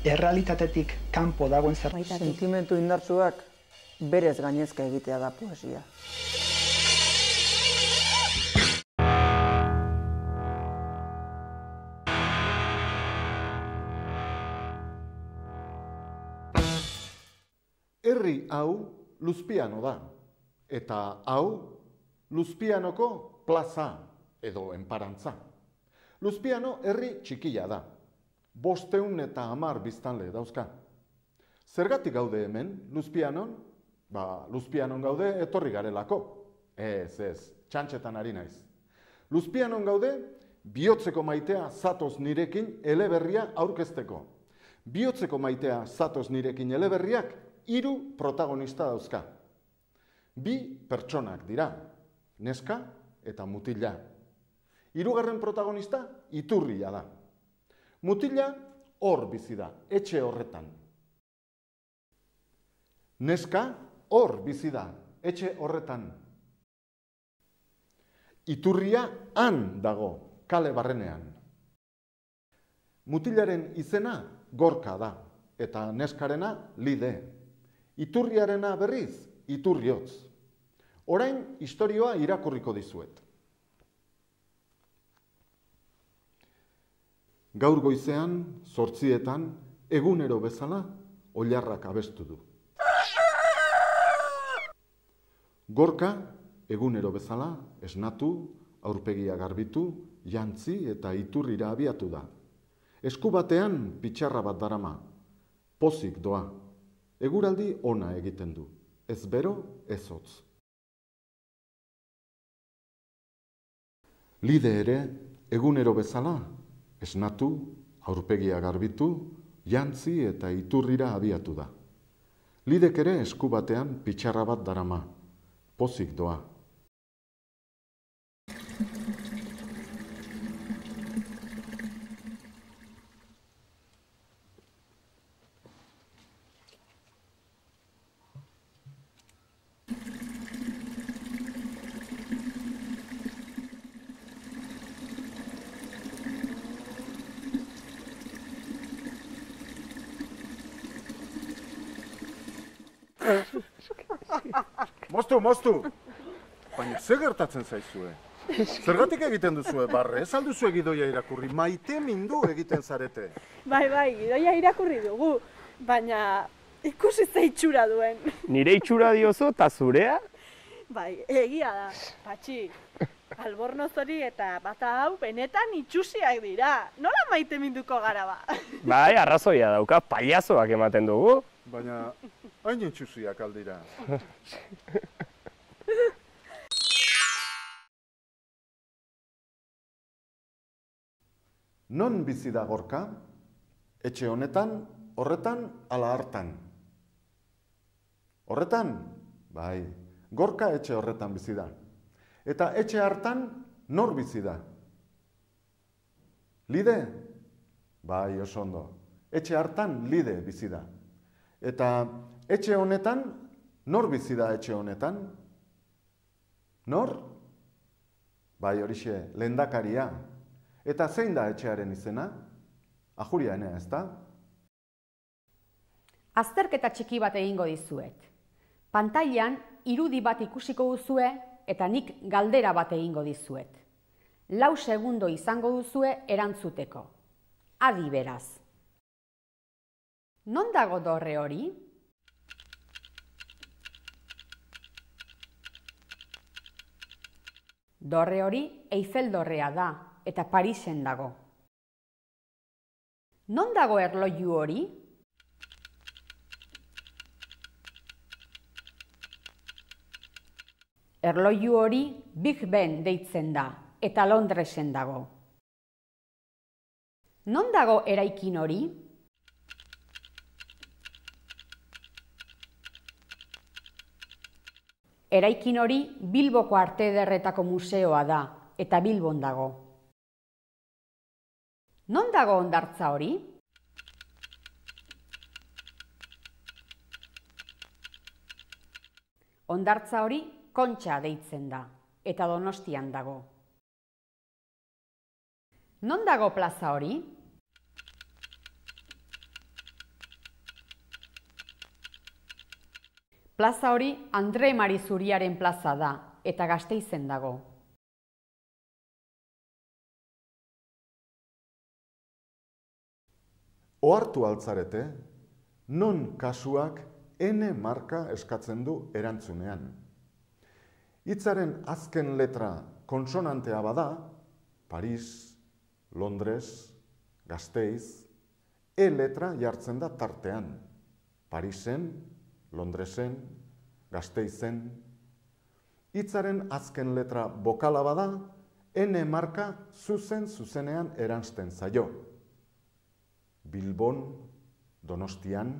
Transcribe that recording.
errealitatetik kanpo dagoen zerbait. Sentimendu indartsuak berez gainezka egitea da poesia. Herri hau Luzpiano da, eta hau Luzpianoko plaza edo enparantza. Luzpiano herri txikia da, 510 biztanle dauzka. Zergatik gaude hemen, Luzpianon? Luzpianon gaude etorri garelako. Ez, txantxetan ari naiz. Luzpianon gaude, bihotzeko maitea zatoz nirekin eleberria aurkezteko. Bihotzeko maitea zatoz nirekin eleberriak 3 protagonista dauzka. 2 pertsonak dira, neska eta mutila. 3. protagonista Iturria da. Mutila hor bizi da, etxe horretan. Neska hor bizi da, etxe horretan. Iturria han dago, kale barrenean. Mutilaren izena Gorka da, eta neskarena Lide. Iturriarena berriz, Iturriotz. Orain istorioa irakurriko dizuet. Gaur goizean, 8:00, egunero bezala, oilarrak abestu du. Gorka, egunero bezala, esnatu, aurpegia garbitu, jantzi eta iturrira abiatu da. Esku batean pitxarra bat darama, pozik doa. Eguraldi ona egiten du, ez bero, ez hotz. Lide ere, egunero bezala, esnatu, aurpegia garbitu, jantzi eta iturrira abiatu da. Lidek ere esku batean pitxarra bat darama, pozik doa. Moztu! Baina, ze gertatzen zaizue? Zergatik egiten duzue barre? Ez alduzue gidoia irakurri, maite mindu egiten zarete. Bai, gidoia irakurri dugu, baina ikusi ze itxura duen. Nire itxura diozu eta zurea? Bai, egia da, Patxi. Albornoz hori eta bata hau benetan itxusiak dira. Nola maite minduko gara ba? Bai, arrazoia dauka, pailazoak ematen dugu. Baina, hain itxusiak aldira. Non bizi da Gorka? Etxe honetan, horretan, ala hartan. Horretan? Bai, Gorka etxe horretan bizi da. Eta etxe hartan, nor bizi da? Lide? Bai, oso ondo. Etxe hartan, Lide bizi da. Eta etxe honetan, nor bizi da etxe honetan? Nor? Bai, horixe, lehendakaria. Eta zein da etxearen izena? Ajuria enea, ez da? Azterketa txiki bat egingo dizuet. Pantailan irudi bat ikusiko duzue eta nik galdera bat egingo dizuet. 4 segundo izango duzue erantzuteko. Adi beraz. Non dago dorre hori? Dorre hori Eiffel dorrea da. Eta Parisen dago. Non dago erloju hori? Erloju hori Big Ben deitzen da, eta Londresen dago. Non dago eraikin hori? Eraikin hori Bilboko Arte Ederretako museoa da, eta Bilbon dago. Non dago hondartza hori? Hondartza hori Kontxa deitzen da, eta Donostian dago. Non dago plaza hori? Plaza hori Andre Mari Zuriaren plaza da, eta Gasteizen dago. Ohartu altzarete, non kasuak N marka eskatzen du erantzunean. Hitzaren azken letra konsonantea bada, Paris, Londres, Gasteiz, E letra jartzen da tartean. Parisen, Londresen, Gasteizen. Hitzaren azken letra bokala bada, N marka zuzenean eransten zaio. Bilbon, Donostian,